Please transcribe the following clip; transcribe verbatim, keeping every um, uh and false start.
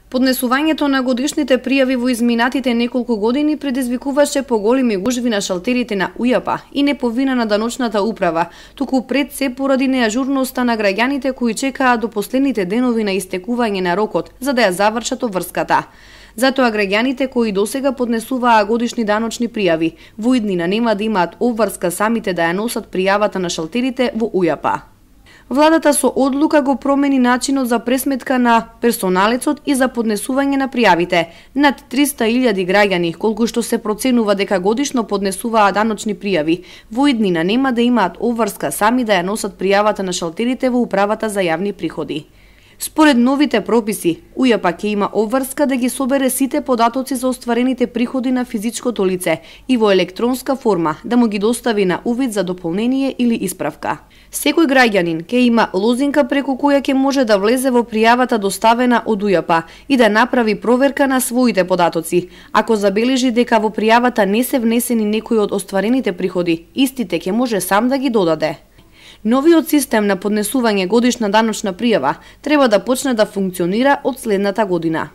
Поднесувањето на годишните пријави во изминатите неколку години предизвикуваше поголеми гужви на шалтерите на УЈАП и не по вина на даночната управа, туку пред се поради неажурноста на граѓаните кои чекаат до последните денови на истекување на рокот за да ја завршат обврската. Затоа граѓаните кои досега поднесуваа годишни даночни пријави во иднина нема да имаат обврска самите да ја носат пријавата на шалтерите во УЈАП. Владата со одлука го промени начинот за пресметка на персоналецот и за поднесување на пријавите. Над триста илјади граѓани, колку што се проценува дека годишно поднесуваа даночни пријави, во иднина нема да имаат обврска сами да ја носат пријавата на шалтерите во управата за јавни приходи. Според новите прописи, УЈАП ќе има обврска да ги собере сите податоци за остварените приходи на физичкото лице и во електронска форма да му ги достави на увид за дополнение или исправка. Секој граѓанин ќе има лозинка преку која ќе може да влезе во пријавата доставена од УЈАП и да направи проверка на своите податоци. Ако забележи дека во пријавата не се внесени некои од остварените приходи, истите ќе може сам да ги додаде. Новиот систем на поднесување годишна даночна пријава треба да почне да функционира од следната година.